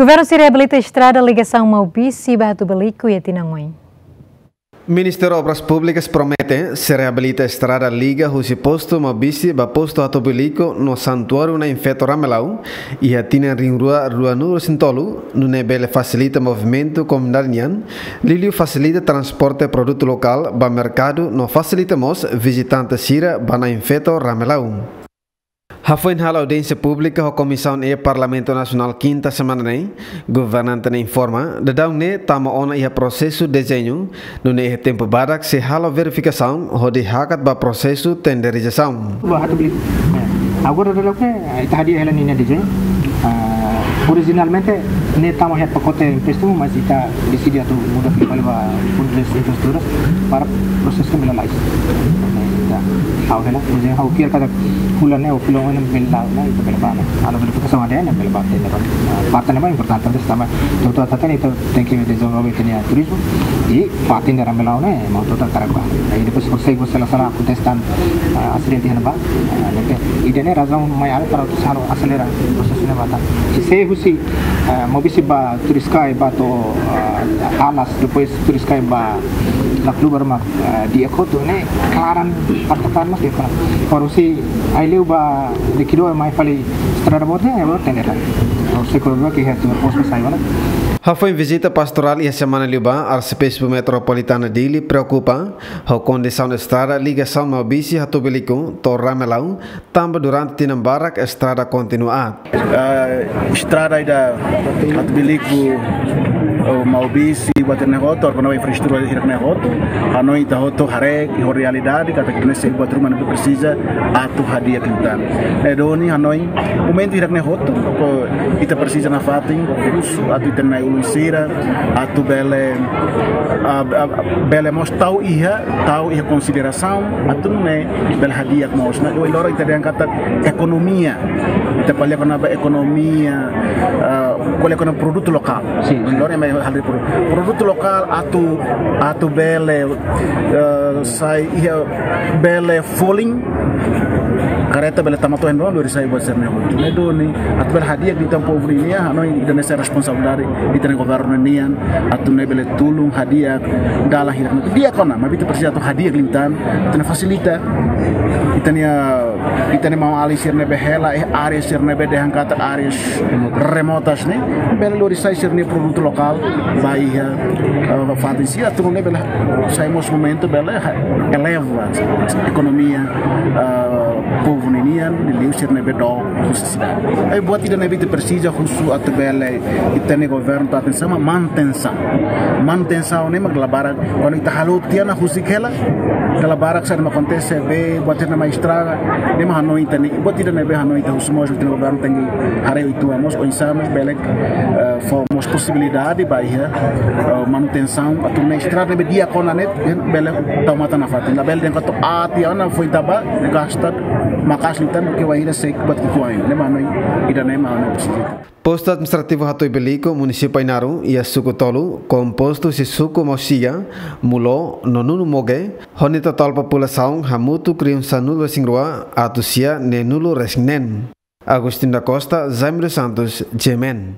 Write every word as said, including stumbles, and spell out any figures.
Governu sei reabilita estrada ligasaun Maubisse ba Hatubuilico iha tinan oin. Ministériu Obras Públikas promete sei reabilita estrada liga husi postu Maubisse ba postu Hatubuilico no Santuáriu Nain Feto Ramelau iha tinan rihun rua ruanulu-resin-tolu, nune'e bele fasilita movimentu komunidade nian, liuliu fasilita transporte produtu lokál ba merkadu no fasilita mós vizitante sira ba Nain Feto Ramelau. Hafoin halo audiénsia públika ho Komisaun E Parlamentu Nasionál kinta semana ne'e, governante ne'e informa, daudaun ne'e tama ona iha prosesu dezeñu, nune'e iha tempu badak sei halo verifikasaun hodi hakat ba prosesu tenderizasaun. Ba Hatubuilico. Agora daudaun ne'e, ita hadi'a hela ninia dezeñu. Ah, orijinalmente, ne'e tama iha pakote empréstimu, mas ita deside atu muda fali ba Fundu de Infraestruturas para prosesu bele lalais. Ita ha'u hela, dezeñu ha'u fiar katak fulan ne'e ou fulan oin ne'e bele la'o, ne'e ita bele bá, ne'e. Halo verifikasaun ida ne'e bele bá tender. Ah, parte ne'ebá importante, tanba ita hatene ita tenke dezenvolve ita-nia turizmu, i fatin de Ramelau ne'e, mau total karak bá. I depois konsege, se la sala akontese tan, ah, asidente iha ne'ebá, ah, ne'ebé. Ida-ne'e razaun mai alin para atu halo aselera prosesu ne'ebá tan. Se, se husi, ah, Maubisse ba Turiscai ba to'o, ah, Alas, depois Turiscai ba Laclubar mak, ah, di'ak hotu ne'e, klaran, parte klaran mas di'ak hotu. Para husi Aileu ba Liquidoer mai fali estrada boot ne'e, agora tender. Ha'u sei koloka ke iha atu resposta sai ona. Hafoin vizita pastorál iha semana liubá, Arsebispu Metropolitana Dili preokupa ho kondisaun estrada ligasaun Maubisse Hatubuilico to'o Ramelau, tanba durante tinan barak estrada kontinua aat. Ah, estrada ida Hatubuilico, oh, Maubisse, buat ne'e hotu, agora infraestrutura hirak ne'e hotu, hanoin ita hotu haree, iha realidade, katak ita-nia buat ruma ne'ebé presiza atu hadi'a liután. Ne'e duni hanoin, momentu hirak ne'e hotu, ko ita presiza nafatin, husu atu ita-nia ulun sira, atu bele, ah, ah, bele mós tau iha, tau iha konsiderasaun, atu nune'e bele hadi'a mós. Ne'e, ohin loron ita dehan katak ekonomia, ita ko'alia kona-ba ekonomia, ah, ko'alia kona-ba produtu lokál. Sin, sin. Ohin loron ema halo produ-, produtu lokál atu, atu bele, eh, sai iha bele folin, kareta bele tama to'o iha ne'ebá, lori sai buat sira-ne'e hotu. Ne'e duni, atu bele hadi'a liután povu nian, hanoin ida-ne'e sai responsabilidade ita-nia governu nian, atu nune'e bele tulun hadi'a dalan hirak ne'e. Di'ak ona, maibé ita presiza atu hadi'a liután, atu nune'e fasilita ita-nia, ita-nia maun-alin sira ne'ebé hela iha área sira ne'ebé dehan katak áreas remotas ne'e, bele lori sai sira-nia produtu lokál ba iha, eh, fatin sira, atu nune'e bele sai mós momentu bele ha-, eleva ekonomia, eh, povu nian, liuliu sira ne'ebé dook husi sidade. Ai buat ida ne'ebé ita presiza husu atu bele ita-nia governu tau atensaun, manutensaun. Manutensaun ne'e mak dala barak, kuandu ita halo tiha ona husik hela, dala barak saida mak akontese, be buat sira-ne'e mai estraga, ne'e mak hanoin ita-nia, buat ida ne'ebé hanoin ita husu mós ita-nia governu tenke haree uitoan mós, oinsá mós bele, eh, fó mós posibilidade ba iha, eh, manutensaun, atu nune'e estrada ne'ebé di'ak ona ne'e, bele tau matan nafatin. Labele dehan katak aat tiha ona foin tama, gasta maka'as liután, ke wainhira seik buat ki'ikoan. Ne'e mak hanoin, ida-ne'e mak hanoin. Postu Administrativu Hatubuilico, Munisípiu Ainaro, iha suku tolu, kompostu husi suku Mausia, Muló, no Nunu Moge, ho nia totál populasaun hamutuk rihun sanulu-resin-rua atus sia neenulu-resin-neen. Agostinho da Costa, Jaime dos Santos, G M N.